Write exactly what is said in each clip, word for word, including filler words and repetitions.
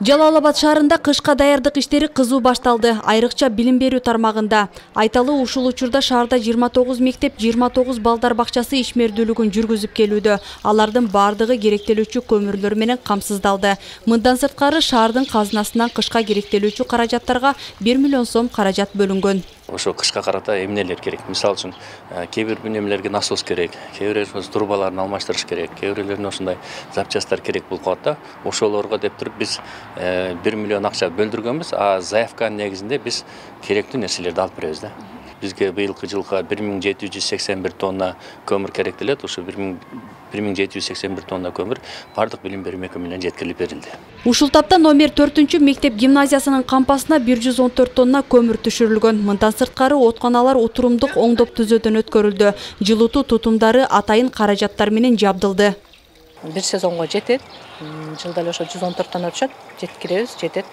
Жалал Абад шаарында кышка даярдык иштери кызуу башталды. Айрыкча билим берүү тармагында. Айталы ушул учурда шаарда жыйырма тогуз мектеп, жыйырма тогуз балдар бакчасы ишмердүүлүгүн жүргүзүп келүүдө. Алардын бардыгы керектелүүчү көмүрлөр менен камсыздалды. Мындан сырткары шаардын казынасынан кышка керектелүүчү каражаттарга бир миллион сом каражат бөлүнгөн. Ошо кышка карата эмнелер керек? Мисалы үчүн, кээ бир эмнелерге насос керек, кээ бир трубаларын алмаштырыш керек, кээ бирлерине ошондой запчасттар керек болуп калат да. Ошолорго деп туруп биз бир миллион акча бөлдүргөнбүз, а заявканын негизинде биз керектүү нерселерди алып беребиз да. Бизге быйылкы жылга бир миң жети жүз сексен бир тонна көмүр керектелет. Ошо бир миң жети жүз сексен бир тонна көмүр бардык билим берүү мекемелерине жеткирилип берилди. Ушул тапта номер төртүнчү мектеп гимназиясынын кампасына бир жүз он төрт тонна көмүр түшүрүлгөн. Мындан сырткары отканалар отурумдук оңдоп түзөөдөн өткөрүлдү. Жылытуу тутумдары атайын каражаттар менен жабдылды. Бир сезонго жетет. Жылда эле ошо жүз он төрт тонна түшөт. Жеткиребиз, жетет.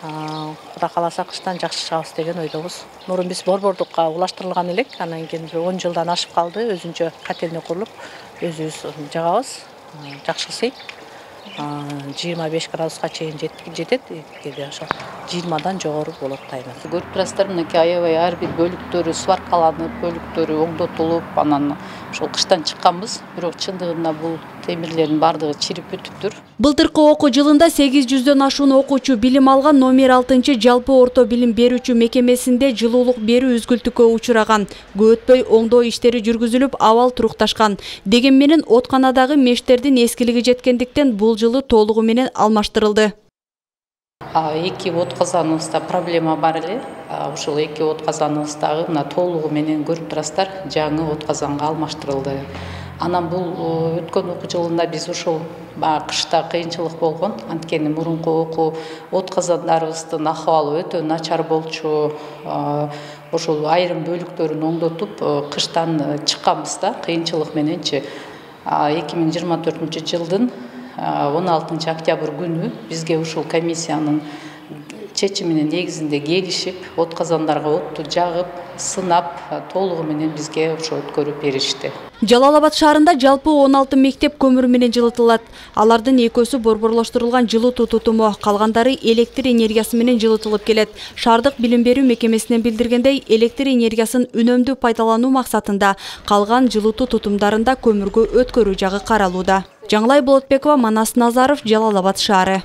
Кудай кааласа кыштан жакшы чыгабыз деген ойдобуз. Мурун биз борбордукка улаштырылган элек, анан кийин бир он жылдан ашып калды. Өзүнчө котельный курулуп, өзүбүз жагабыз. Жакшы сый. жыйырма беш градуска чейин жетет, кээде ошо жыйырмадан жогору болот тайына. Көрүп турасыздар, мынакей аябай ар бир бөлүктөрү сваркаланып, бөлүктөрү оңдотулуп, анан ошол кыштан чыкканбыз. Бирок чындыгында бул темирлердин бардыгы чирип бүтүптүр. Былтыркы окуу жылында сегиз жүздөн ашуун окуучу билим алган номер алтынчы жалпы орто билим берүүчү мекемесинде жылуулук берүү үзгүлтүккө учураган. Көп өтпөй оңдоо иштери жүргүзүлүп, абал турукташкан. Деген менен отканадагы мештердин эскилиги жеткендиктен бул жылы толугу менен алмаштырылды. Эки от казаныбызда проблема бар эле. Ушул эки от казаныбыздагы мына толугу менен көрүп турасыздар, жаңы от казанга алмаштырылды. Анан бул өткөн окуу жылында биз ушул кышта кыйынчылык болгон. Анткени мурунку окуу от казандарыбыздын акыбалы өтө начар болчу. Ошол айрым бөлүктөрүн оңдотуп кыштан чыкканбыз да, кыйынчылык мененчи. эки миң жыйырма төртүнчү жылдын он алтынчы октябрь күнү бизге ушул комиссиянын чечиминин негизинде келишип, от казандарга отту жагып, сынап, толугу менен бизге ошо өткөрүп беришти. Жалал Абад шаарында жалпы он алты мектеп көмүр менен жылытылат. Алардын экөөсү борборлоштурулган жылытуу тутуму, калгандары электр энергиясы менен жылытылып келет. Шаардык билим берүү мекемесинен билдиргендей, электр энергиясын үнөмдүү пайдалануу максатында калган жылытуу тутумдарында көмүргө өткөрүү жагы каралууда. Жаңылай Болотбекова, Манас Назаров, Жалал Абад шаары.